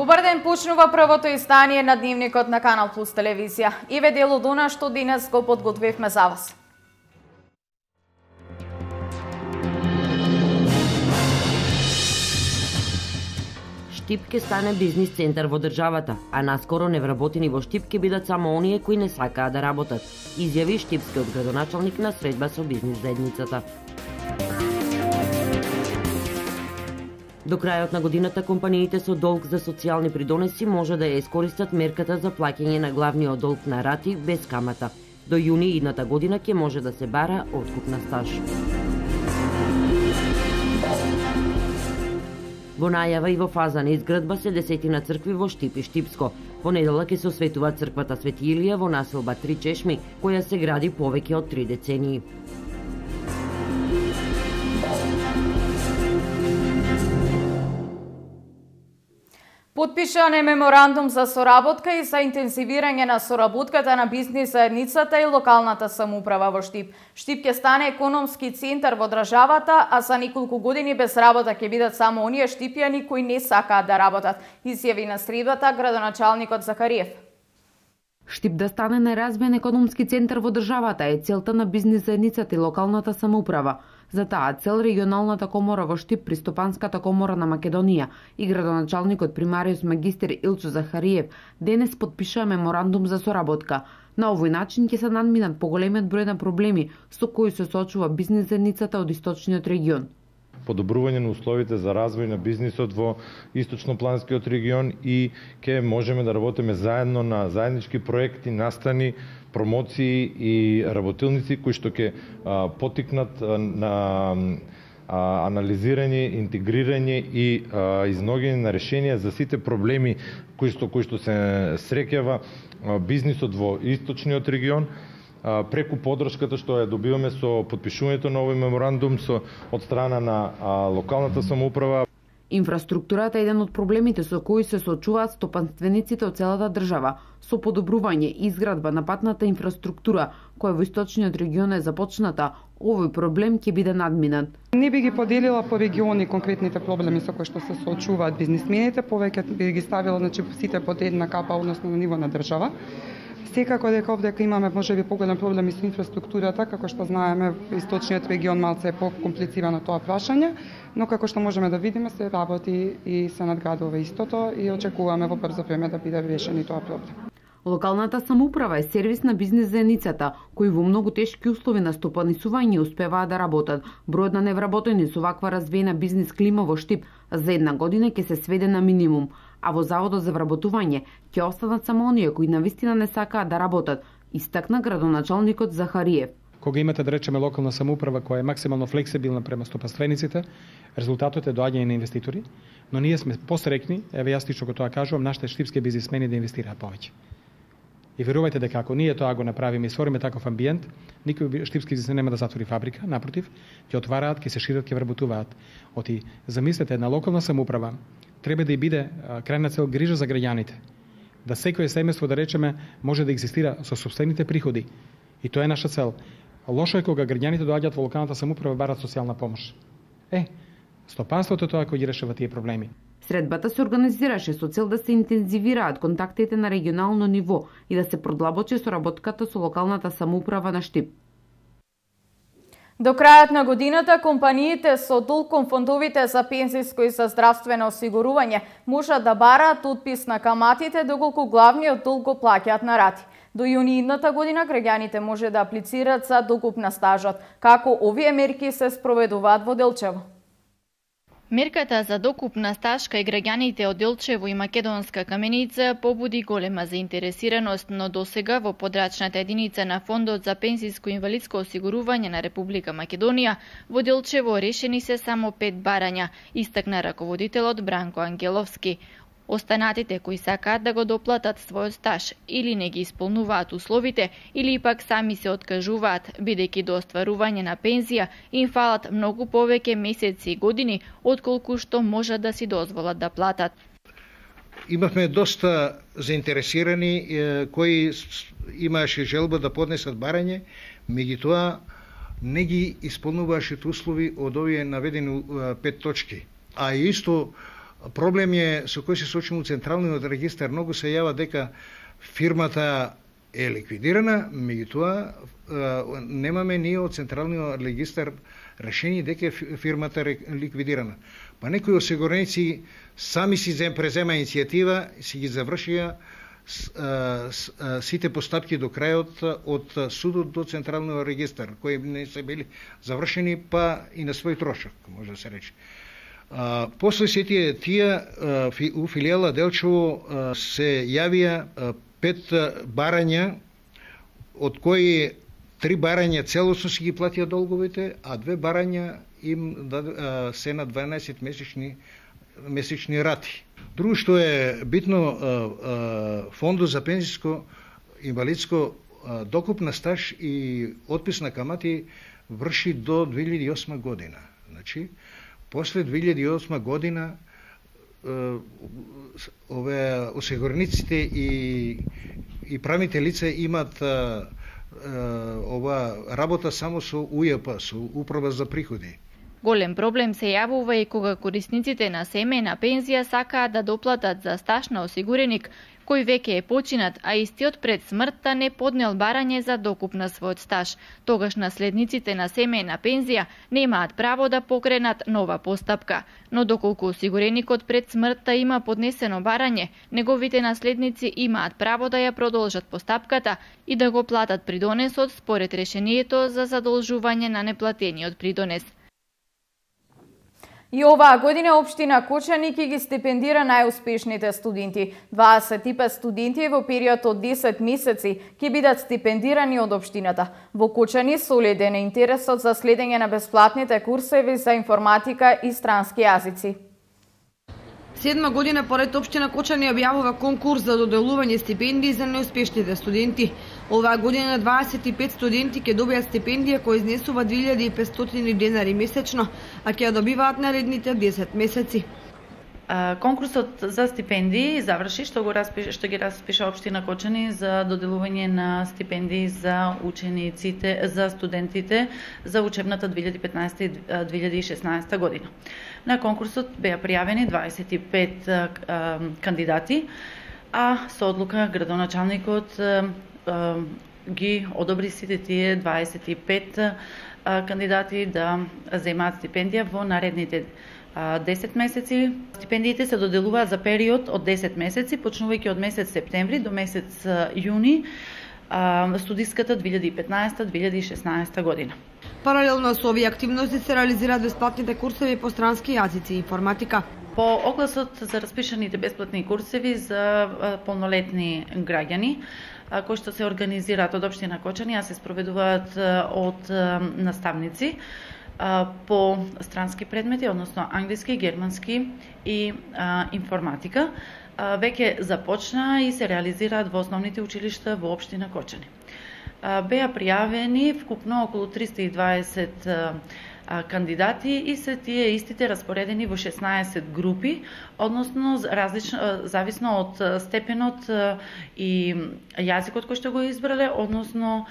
Добар ден, почнува првото издание на Дневникот на Канал Плюс телевизија. Иве дел од она што денес го подготвивме за вас. Штип ке стане бизнис центар во државата, а наскоро невработени во Штип ке бидат само оние кои не сакаат да работат, изјави штипскиот градоначалник на средба со бизнис заедницата. До крајот на годината компаниите со долг за социјални придонеси може да ја искористат мерката за плаќање на главниот долг на рати без камата. До јуни идната година ќе може да се бара откуп на стаж. Во најава и во фаза на изградба се десетина цркви во Штип и Штипско. Во неделя ќе се осветува црквата Свети Илија во населба Три Чешми, која се гради повеќе од 3 децении. Потпишан е меморандум за соработка и за интензивирање на соработката на бизнис заедницата и локалната самоуправа во Штип. Штип ќе стане економски центар во државата, а за неколку години без работа ќе бидат само оние штипјани кои не сакаат да работат, изјави на средбата градоначалникот Захариев. Штип да стане неразвиен економски центар во државата е целта на бизнис заедницата и локалната самоуправа. За таа цел регионалната комора во Штип, Пристопанската комора на Македонија и градоначалникот примариус магистер Илчо Захариев денес потпишаа меморандум за соработка. На овој начин ќе се надминат поголемиот број на проблеми со кои се соочува бизнис заедницата од источниот регион. Подобрување на условите за развој на бизнисот во источнопланскиот регион и ќе можеме да работиме заедно на заеднички проекти, настани, промоции и работилници кои што ќе потикнат на анализирање, интегрирање и изнаоѓање на решенија за сите проблеми кои што се среќава бизнисот во источниот регион, преку поддршката што ја добиваме со потпишувањето на овој меморандум од страна на локалната самоуправа. Инфраструктурата е еден од проблемите со кои се соочуваат стопанствениците од целата држава. Со подобрување и изградба на патната инфраструктура, која во источниот регион е започната, овој проблем ќе биде надминат. Не би ги поделила по региони конкретните проблеми со кои што се соочуваат бизнисмените, повеќе би ги ставила сите под една капа, односно на ниво на држава. Секако дека овде имаме можеби поголем проблеми со инфраструктурата, како што знаеме, источниот регион малце е покомплицирано тоа прашање, но како што можеме да видиме се работи и се надградува истото и очекуваме во брзо време да биде решен и тоа проблем. Локалната самоуправа е сервис на бизнис заедницата, кои во многу тешки услови на стопанисување успеваат да работат. Бројот на невработени со ваква развиена бизнис клима во Штип за една година ќе се сведе на минимум, а во Заводот за вработување ќе останат само оние кои навистина не сакаат да работат, истакна градоначалникот Захариев. Кога имате, да речеме, локална самоуправа која е максимално флексибилна према стопанствениците, резултатот е доаѓање на инвеститори, но ние сме посрекни, еве јас лично го тоа кажувам, нашите штипски бизнисмени да инвестираат повеќе. И верувајте дека ако ние тоа го направиме и створиме таков амбиент, никој штипски бизнисмен нема да затвори фабрика, напротив, ќе отвараат, ќе се шират, ќе вработуваат. Оти, замислете, една локална самоуправа треба да и биде крајна цел грижа за граѓаните. Да секое семејство, да речеме, може да екзистира со сопствените приходи. И тоа е наша цел. Лошо е кога граѓаните доаѓаат во локалната самоуправа и барат социјална помош. Стопанството тоа кој ги решава тие проблеми. Средбата се организираше со цел да се интензивираат контактите на регионално ниво и да се продлабочи соработката со локалната самоуправа на Штип. До крајот на годината, компаниите со долг кон фондовите за пензиско и за здравствено осигурување можат да бараат отпис на каматите доколку главниот долг го плаќаат на рати. До јуни идната година граѓаните може да аплицираат за докуп на стажот. Како овие мерки се спроведуваат во Делчево? Мерката за докуп на стаж кај граѓаните од Делчево и Македонска Каменица побуди голема заинтересираност, но досега во подрачната единица на Фондот за пензиско и инвалидско осигурување на Република Македонија во Делчево решени се само 5 барања, истакна раководителот Бранко Ангеловски. Останатите кои сакаат да го доплатат својот стаж или не ги исполнуваат условите или пак сами се откажуваат, бидејќи до остварување на пензија им фалат многу повеќе месеци и години отколку што можат да си дозволат да платат. Имавме доста заинтересирани кои имаше желба да поднесат барање, меѓутоа не ги исполнуваше услови од овие наведени 5 точки. А исто проблем е со кој се соочуваме у Централниот регистар. Многу се јава дека фирмата е ликвидирана, меѓутоа немаме ние од Централниот регистар решение дека фирмата е ликвидирана. Па некои осигуреници сами си презема иницијатива, си ги завршија сите постапки до крајот од судот до Централниот регистар, кои не се били завршени, па и на свој трошок, може да се рече. После сите тие у филијала Делчево се јавија 5 барања, од кои 3 барања целосно си ги платија долговите, а 2 барања им се на 12 месечни рати. Друго што е битно, фондот за пензиско инвалидско докупна стаж и отпис на камати врши до 2008 година. Значи, после 2008 година ове осигурениците и правните лица имат ова работа само со УЈП, со Управа за приходи. Голем проблем се јавува и кога корисниците на семејна пензија сакаат да доплатат за стаж на осигуреник кој веќе е починат, а истиот пред смртта не поднел барање за докуп на својот стаж. Тогаш наследниците на семејна пензија немаат право да покренат нова постапка. Но доколку осигуреникот пред смртта има поднесено барање, неговите наследници имаат право да ја продолжат постапката и да го платат придонесот според решението за задолжување на неплатениот придонес. И оваа година општина Кочани ќе ги стипендира најуспешните студенти. 25 студенти во период од 10 месеци ќе бидат стипендирани од општината. Во Кочани солиден е интересот за следење на бесплатните курсеви за информатика и странски јазици. 7 година поред општина Кочани објавува конкурс за доделување стипендии за неуспешните студенти. Оваа година 25 студенти ќе добијат стипендија која изнесува 2500 денари месечно, а ќе ја добиваат наредните 10 месеци. Конкурсот за стипендии заврши, што ги распиша општина Кочани за доделување на стипендии за учениците, за студентите за учебната 2015-2016 година. На конкурсот беа пријавени 25 кандидати, а со одлука градоначалникот ги одобри сите тие 25 кандидати да земаат стипендија во наредните 10 месеци. Стипендиите се доделуваат за период од 10 месеци, почнувајќи од месец септември до месец јуни студиската 2015-2016 година. Паралелно со овие активности се реализираат бесплатните курсеви по странски јазици и информатика. По огласот за распишаните бесплатни курсеви за полнолетни граѓани, кои што се организираат од општина Кочани, а се спроведуваат од наставници по странски предмети, односно англиски, германски и информатика, веќе започна и се реализираат во основните училишта во општина Кочани. Беа пријавени вкупно околу 320 кандидати и се тие истите распоредени во 16 групи, односно зависно од степенот и јазикот кој што го избрале, односно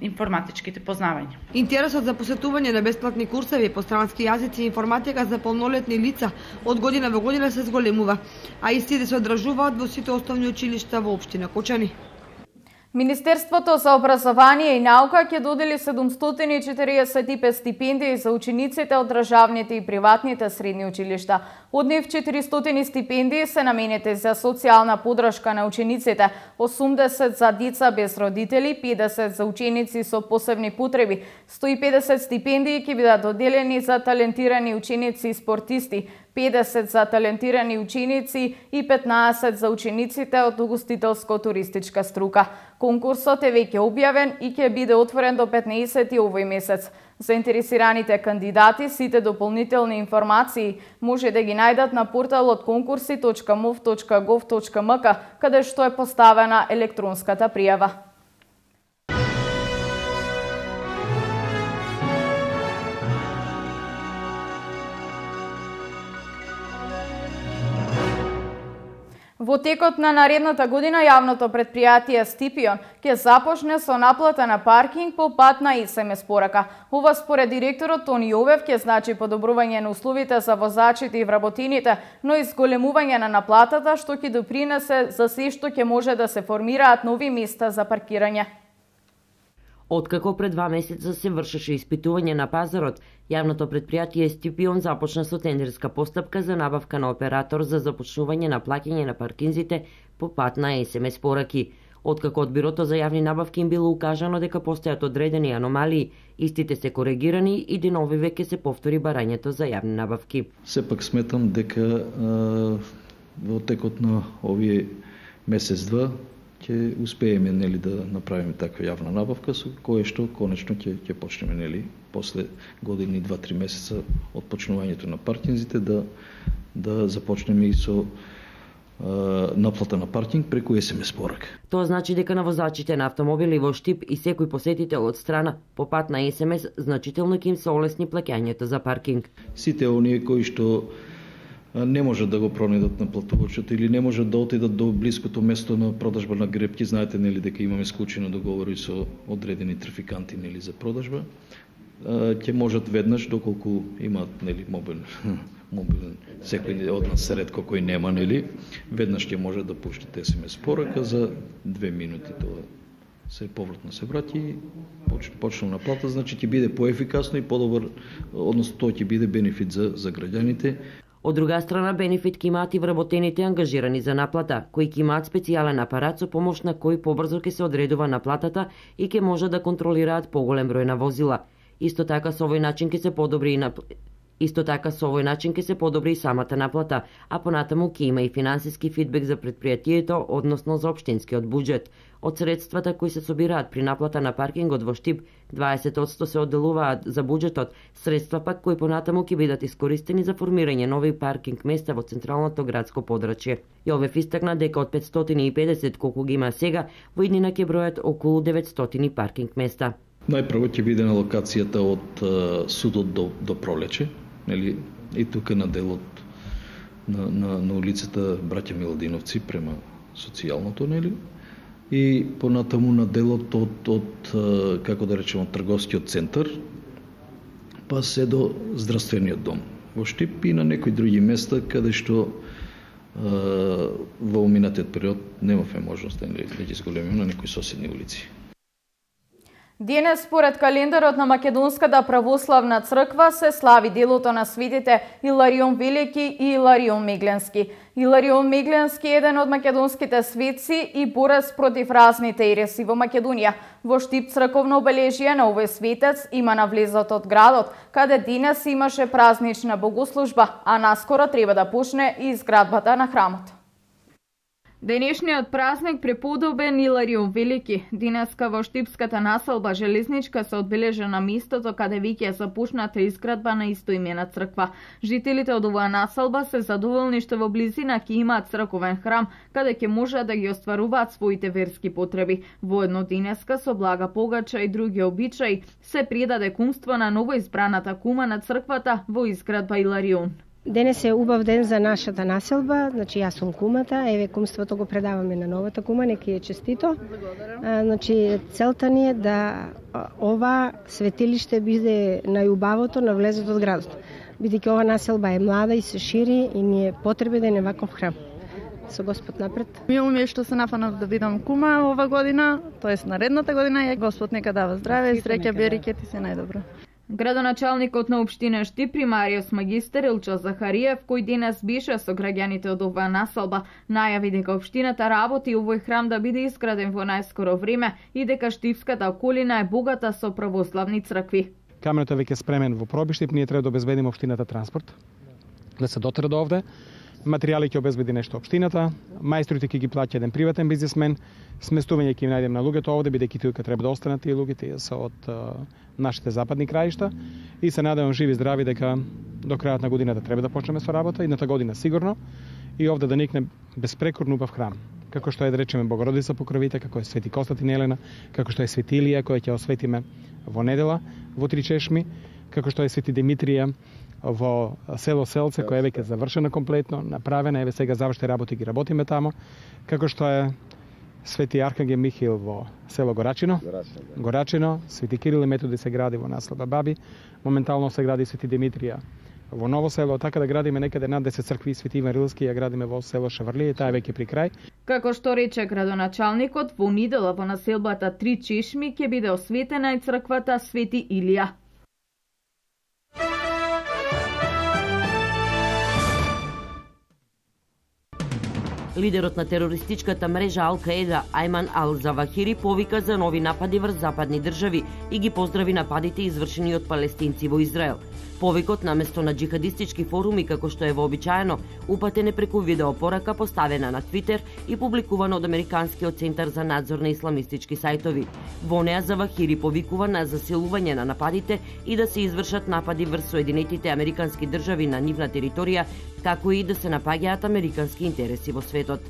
информатичките познавања. Интересот за посетување на бесплатни курсеви по странски јазици и информатика за полнолетни лица од година во година се зголемува, а истите се одржуваат во сите основни училишта во општина Кочани. Министерството за образование и наука ќе додели 745 стипендии за учениците од државните и приватните средни училишта. Од нив 400 стипендии се наменети за социјална поддршка на учениците, 80 за деца без родители, 50 за ученици со посебни потреби, 150 стипендии ќе бидат доделени за талентирани ученици и спортисти, 50 за талентирани ученици и 15 за учениците од угостителско-туристичка струка. Конкурсот е веќе објавен и ќе биде отворен до 15 овој месец. Заинтересираните кандидати сите дополнителни информации може да ги најдат на порталот konkursi.mov.gov.mk, каде што е поставена електронската пријава. Во текот на наредната година јавното претпријатие Стипион ќе започне со наплата на паркинг по пат на СМС порака. Ова според директорот Тони Јовев ќе значи подобрување на условите за возачите и вработените, но и зголемување на наплатата што ќе допринесе за се што ќе може да се формираат нови места за паркирање. Откако пред 2 месеца се вршеше испитување на пазарот, јавното претпријатие Стипион започна со тендерска постапка за набавка на оператор за започнување на плаќање на паркинзите по пат на СМС пораки. Откако од Бирото за јавни набавки им било укажано дека постојат одредени аномалии, истите се коригирани и деновиве ќе се повтори барањето за јавни набавки. Сепак сметам дека во текот на овие месец-два ќе успееме да направиме таква јавна набавка со кое што конечно ќе почнеме после години 2-3 месеца од почнувањето на паркинзите да започнеме и со наплата на паркинг преку СМС порака. Тоа значи дека на возачите на автомобили во Штип и секој посетител од страна по пат на СМС значително ќе им се олесни плаќањето за паркинг. Сите оние кои што не можат да го пронедат на платувачот или не можат да отидат до блиското место на продажба на гребки, знаете дека имаме склучени договори со одредени трафиканти за продажба, ќе можат веднаш доколку имаат мобилен секој од нас ретко кој нема веднаш ќе може да пуштите СМС порака за 2 минути тоа се повратно се врати и почна наплата, значи ќе биде поефикасно и подобар, односно тоа ќе биде бенефит за граѓаните. Од друга страна, бенефит ќе имаат и вработените ангажирани за наплата, кои ќе имаат специјален апарат со помош на кој побрзо ќе се одредува наплатата и ќе може да контролираат поголем број на возила. Исто така со овој начин ќе се подобри и самата наплата, а понатаму ќе има и финансиски фидбек за претпријатието, односно за општинскиот буџет. Од средствата кои се собираат при наплата на паркингот во Штип, 20% се одделуваат за буџетот, средства пак кои понатаму ќе бидат искористени за формирање нови паркинг места во централното градско подрачје. Јовев истакна дека од 550 колку ги има сега, во иднина ќе бројат околу 900 паркинг места. Најпрво ќе биде на локацијата од судот до Пролече, и тука на делот на улицата Браќа Миладиновци према социјалното, и понатаму на делот од како да речеме, трговскиот центар, па се до здравствениот дом во Штип и на некои други места каде што во минатиот период немавме можност да ги зголемиме на некои соседни улици. Денес, според календарот на Македонската православна црква, се слави делото на светите Иларион Велики и Иларион Мегленски. Иларион Мегленски е еден од македонските светци и борец против разните ереси во Македонија. Во Штип црковно обележие на овој светец има на влезот од градот, каде денес имаше празнична богослужба, а наскоро треба да почне и изградбата на храмот. Денешниот празник преподобен Иларион Велики. Денеска во Штипската населба Железничка се одбележа на местото каде веќе е започната изградба на истоимена црква. Жителите од оваа населба се задоволни што во близина ќе имаат црковен храм, каде ќе можат да ги остваруваат своите верски потреби. Воедно денеска со блага погача и други обичаи се предаде кумство на новоизбраната кума на црквата во изградба Иларион. Денес е убав ден за нашата населба, значи јас сум кумата, еве кумството го предаваме на новата кума, нека е честито. Значи целта ни е да ова светилиште биде најубавото на влезот од градот. Бидејќи ова населба е млада и се шири и ни е потребен ваков храм. Со Господ напред. Мило ми е што се нафанав да бидам кума ова година, тоест наредната година, и Господ нека дава здраве, среќа, берекет и се најдобро. Градоначалникот на општина Штип примариус магистер Илчо Захариев, кој денес беше со граѓаните од оваа населба, најави дека општината работи овој храм да биде изграден во најскоро време и дека Штипската околина е богата со православни цркви. Каменот е веќе спремен во проби Штип, ние треба да обезбедиме општината транспорт, да се дотера до овде. Материјали ќе обезбеди нешто општината, мајсторите ќе ги плаќа еден приватен бизнисмен, сместување ќе им најдем на луѓето овде, бидејќи тука треба да останат тие луѓе, тие се од нашите западни краишта, и се надевам живи здрави дека до крајот на годината треба да почнеме со работа, едната година сигурно, и овде да никне безпрекорно убав храм, како што е да речеме Богородица Покровите, како е Свети Константин Елена, како што е Свети Илија која ќе осветиме во недела во 3 чешми, како што е Свети Димитрија во село Селце, која е веќе завршена комплетно, направена, еве сега завршени работи ги работиме тамо, како што е Свети Архангел Михаил во село Горачино, Свети Кирил и Методи се гради во населба Баби, моментално се гради Свети Димитрија во Ново село, така да градиме некаде над 10 цркви, Свети Иван Рилски ја градиме во село Шаврлија, таа е веќе при крај. Како што рече градоначалникот, во недела во населбата Три Чешми ќе биде осветена и црквата Свети Илија. Лидерот на терористичката мрежа Ал-Каеда Айман Ал-Завахири повика за нови напади врз западни држави и ги поздрави нападите извршени од палестинци во Израел. Повикот наместо на джихадистички форуми како што е вообичаено, упатен е преку видеопорака поставена на Твитер и публикувана од Американскиот центар за надзор на исламистички сајтови. Во неа Завахири повикува на засилување на нападите и да се извршат напади врз Соединетите Американски држави на нивна територија, како и да се напаѓаат американски интереси во светот.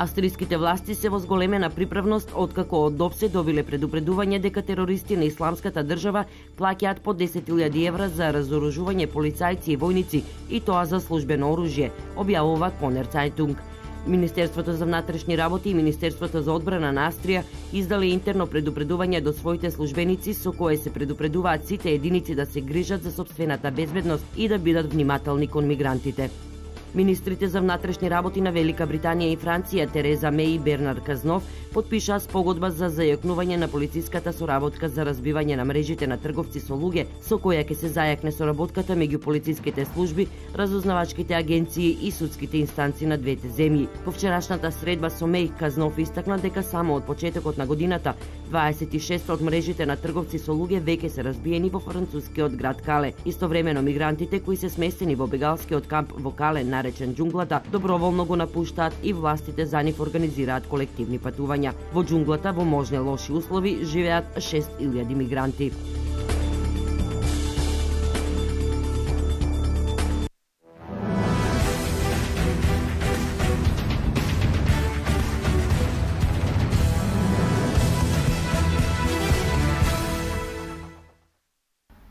Австриските власти се во зголемена приправност откако од ДОП се добиле предупредување дека терористи на Исламската држава плаќаат по 10.000 евра за разоружување полицајци и војници, и тоа за службено оружје, објавува Конер Цајтунг. Министерството за внатрешни работи и Министерството за одбрана на Австрија издале интерно предупредување до своите службеници со кое се предупредуваат сите единици да се грижат за сопствената безбедност и да бидат внимателни кон мигрантите. Министрите за внатрешни работи на Велика Британија и Франција Тереза Меј и Бернар Казнов потпишаа спогодба за зајакнување на полициската соработка за разбивање на мрежите на трговци со луѓе, со која ќе се зајакне соработката меѓу полициските служби, разузнавачките агенции и судските инстанции на двете земји. По вчерашната средба со Меј, Казнов истакна дека само од почетокот на годината 26 од мрежите на трговци со луѓе веќе се разбиени во францускиот град Кале. Истовремено мигрантите кои се сместени во бегалскиот камп во Кале наречен џунглата, доброволно го напуштаат и властите за нив организираат колективни патувања. Во џунглата во можни лоши услови живеат 6.000 мигранти.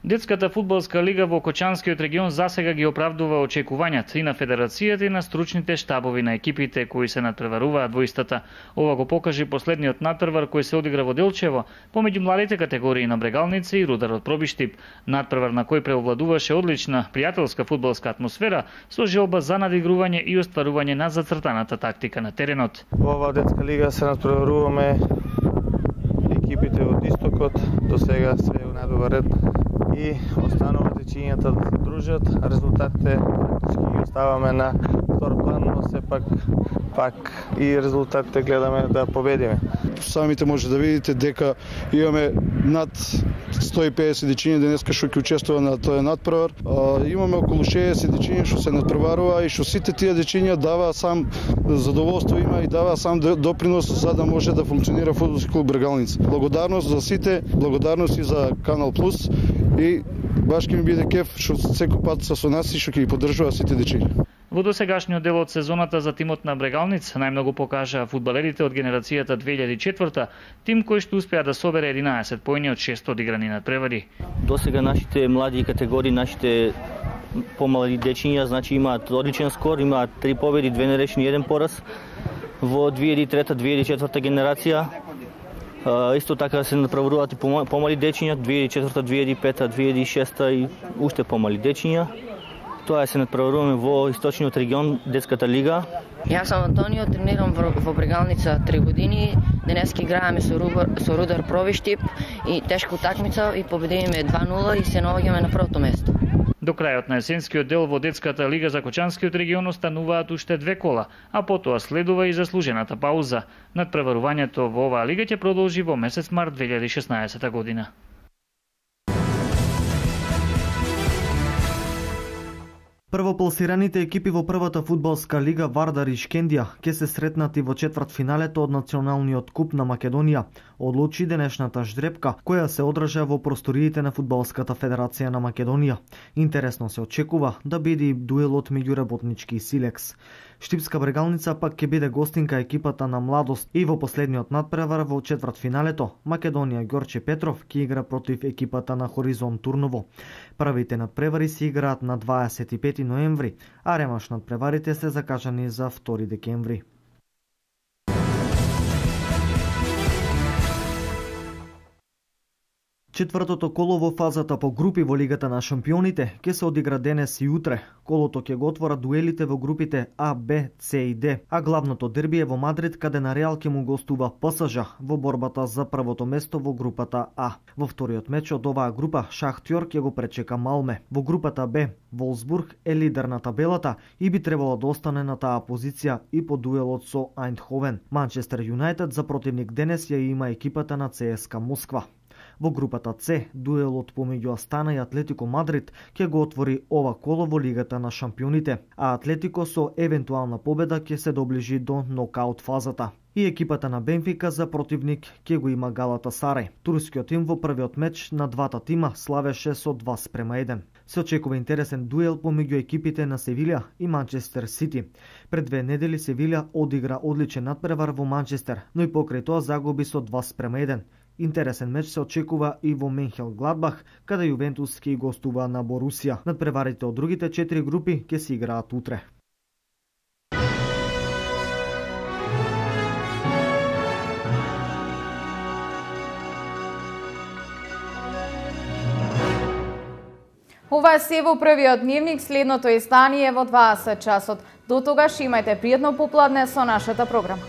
Детската фудбалска лига во Кочанскиот регион засега ги оправдува очекувањата и на федерацијата и на стручните штабови на екипите кои се надпреваруваат во истата. Ова го покажи последниот надпревар кој се одигра во Делчево помеѓу младите категории на Брегалница и Рудар од Пробиштип. Надпревар на кој преовладуваше одлична пријателска фудбалска атмосфера со желба за надигрување и остварување на зацртаната тактика на теренот. Во оваа детска лига се надпреваруваме екипите од Истокот, до сега се најдобар ред и останува дечињата да се дружат, резултатите практички ги оставаме на втор план, но сепак и резултатите гледаме да победиме. Самите може да видите дека имаме над 150 дечиња денеска што ќе учествува на тој надпревар. Имаме околу 60 дечиња што се надпреварува и што сите тие дечиња дава сам задоволство има и дава сам допринос за да може да функционира фудбалски клуб Брегалница. Благодарност за сите, благодарност и за Канал Плюс и баш ќе ми биде кеф што секој пат са со нас и што ќе ги поддржува сите дечиња. Во досегашниот дел од сезоната за тимот на Брегалниц најмногу покажаа фудбалерите од генерацијата 2004, тим кој што успеа да собере 11 поени од 6 одиграни надпревари. Досега нашите млади категории, нашите помали дечиња, значи имаат одличен скор, имаат 3 победи, 2 нерешени, 1 пораз. Во 2003-2004 генерација исто така се надпреваруваат и помали дечиња, 2004, 2005, 2006 и уште помали дечиња. Тоа се надпреваруваме во Источниот регион, детската лига. Јас сум Антонио, тренирам во Брегалница 3 години. Денеска играеме со Рудар Пробиштип и тешка утакмица и победивме 2-0 и се наоѓаме на првото место. До крајот на есенскиот дел во детската лига за Кочанскиот регион остануваат уште 2 кола, а потоа следува и заслужената пауза. Надпреварувањето во оваа лига ќе продолжи во месец март 2016 година. Првопласираните екипи во првата фудбалска лига Вардар и Шкендија ќе се сретнати во четвртфиналето од Националниот куп на Македонија. одлучи денешната ждрепка, која се одржа во просториите на Фудбалската федерација на Македонија. Интересно се очекува да биде и дуелот меѓу Работнички и Силекс. Штипска Брегалница пак ќе биде гостинка екипата на Младост и во последниот надпревар во четвртфиналето Македонија Ѓорче Петров ќе игра против екипата на Хоризонт Турново. Првите надпревари се играат на 25 ноември, а ремаш надпреварите се закажани за 2 декември. Четвртото коло во фазата по групи во Лигата на шампионите ќе се одигра денес и утре. Колото ќе го отвора дуелите во групите А, Б, С и Д, а главното дерби е во Мадрид, каде на Реал ќе му гостува ПСЖ во борбата за првото место во групата А. Во вториот меч од оваа група Шахтјор ќе го пречека Малме. Во групата Б Волсбург е лидер на табелата и би требало да остане на таа позиција и по дуелот со Ајндховен. Манчестер Юнајтед за противник денес ја има екипата на ЦСКА Москва. Во групата С, дуелот помеѓу Астана и Атлетико Мадрид ќе го отвори ова коло во Лигата на шампионите, а Атлетико со евентуална победа ќе се доближи до нокаут фазата. И екипата на Бенфика за противник ќе го има Галатасарај. Турскиот тим во првиот меч на двата тима славеше со 2:1. Се очекува интересен дуел помеѓу екипите на Севилја и Манчестер Сити. Пред 2 недели Севилја одигра одличен надпревар во Манчестер, но и покрај тоа загуби со 2:1. Интересен меч се очекува и во Менхел Гладбах, каде Јувентус ќе гостува на Борусија. Надпреварите од другите 4 групи ќе се играат утре. Ова е се во првиот дневник, следното издание во 20 часот. До тогаш имајте пријатно попладне со нашата програма.